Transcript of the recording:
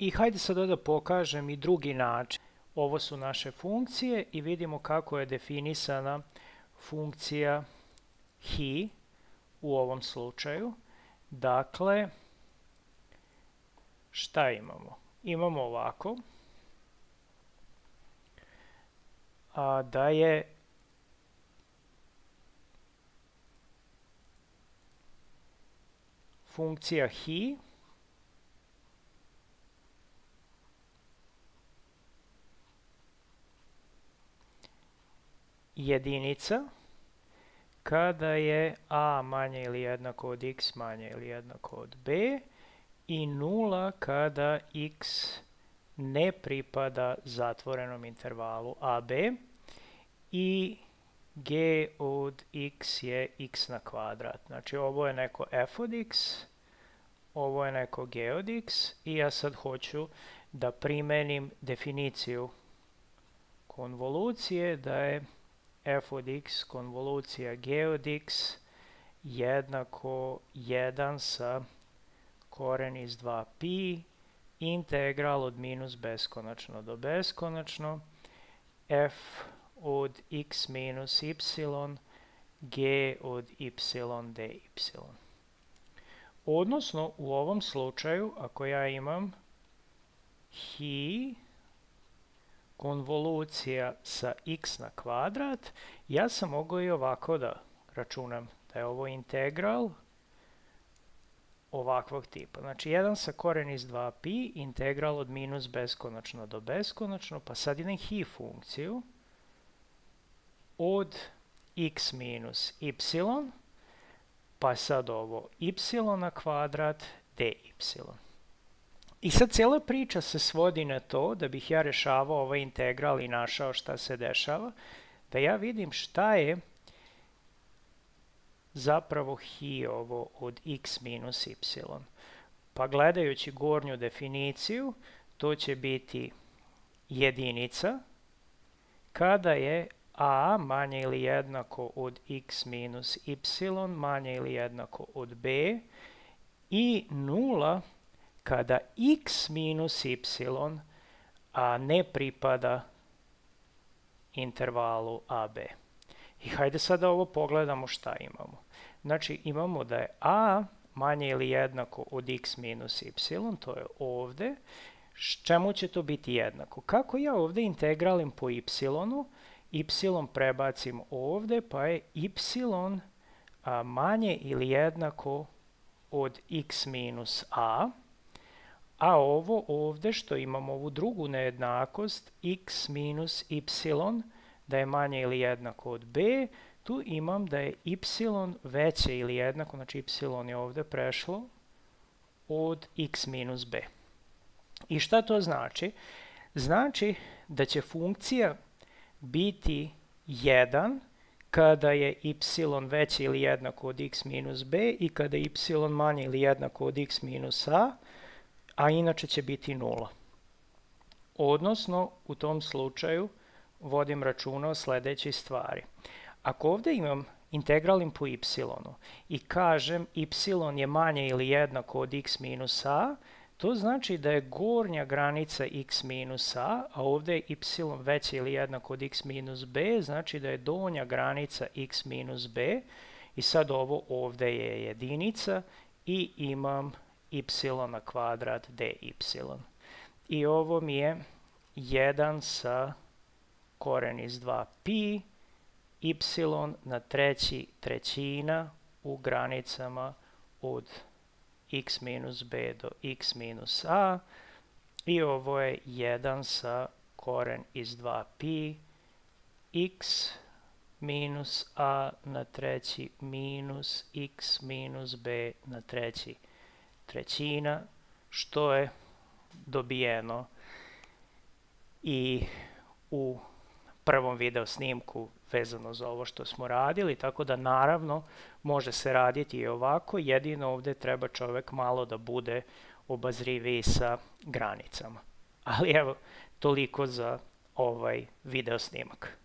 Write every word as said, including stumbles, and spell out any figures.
I hajde sad da pokažem i drugi način. Ovo su naše funkcije i vidimo kako je definisana funkcija hi u ovom slučaju. Dakle, šta imamo? Imamo ovako, a da je funkcija hi jedinica kada je a manje ili jednako od x manje ili jednako od b i nula kada x ne pripada zatvorenom intervalu a b i g od x je x na kvadrat. Znači ovo je neko f od x, ovo je neko g od x i ja sad hoću da primenim definiciju konvolucije da je f od x konvolucija g od x jednako jedan sa koren iz dva pi integral od minus beskonačno do beskonačno f od x minus y g od y dy. Odnosno, u ovom slučaju, ako ja imam hi konvolucija sa x na kvadrat, ja sam mogao i ovako da računam da je ovo integral ovakvog tipa. Znači, jedan sa koren iz dva pi, integral od minus beskonačno do beskonačno, pa sad idem hi funkciju od x minus y, pa sad ovo y na kvadrat dy. I sad cijela priča se svodi na to, da bih ja rešavao ovaj integral i našao šta se dešava, da ja vidim šta je zapravo hi ovo od x minus y. Pa gledajući gornju definiciju, to će biti jedinica kada je a manje ili jednako od x minus y manje ili jednako od b i nula kada x minus y a ne pripada intervalu a b. I hajde sada ovo pogledamo šta imamo. Znači imamo da je a manje ili jednako od x minus y, to je ovde. Čemu će to biti jednako? Kako ja ovde integralim po y, y prebacim ovde, pa je y a, manje ili jednako od x minus a, a ovo ovde što imamo ovu drugu nejednakost, x minus y, da je manje ili jednako od b, tu imam da je y veće ili jednako, znači y je ovde prešlo, od x minus b. I šta to znači? Znači da će funkcija biti jedan kada je y veće ili jednako od x minus b i kada je y manje ili jednako od x minus a, a inače će biti nula. Odnosno, u tom slučaju vodim računa o sledećoj stvari. Ako ovde imam integralim po y i kažem y je manje ili jednako od x minus a, to znači da je gornja granica x minus a, a ovde je y veće ili jednako od x minus b, znači da je donja granica x minus b i sad ovo ovde je jedinica i imam y na kvadrat dy. I ovo mi je jedan sa koren iz dva pi y na treći trećina u granicama od x minus b do x minus a i ovo je jedan sa koren iz dva pi x minus a na treći minus x minus b na treći trećina, što je dobijeno i u prvom video snimku vezano za ovo što smo radili, tako da naravno može se raditi i ovako, jedino ovde treba čovek malo da bude obazriviji sa granicama. Ali evo, toliko za ovaj video snimak.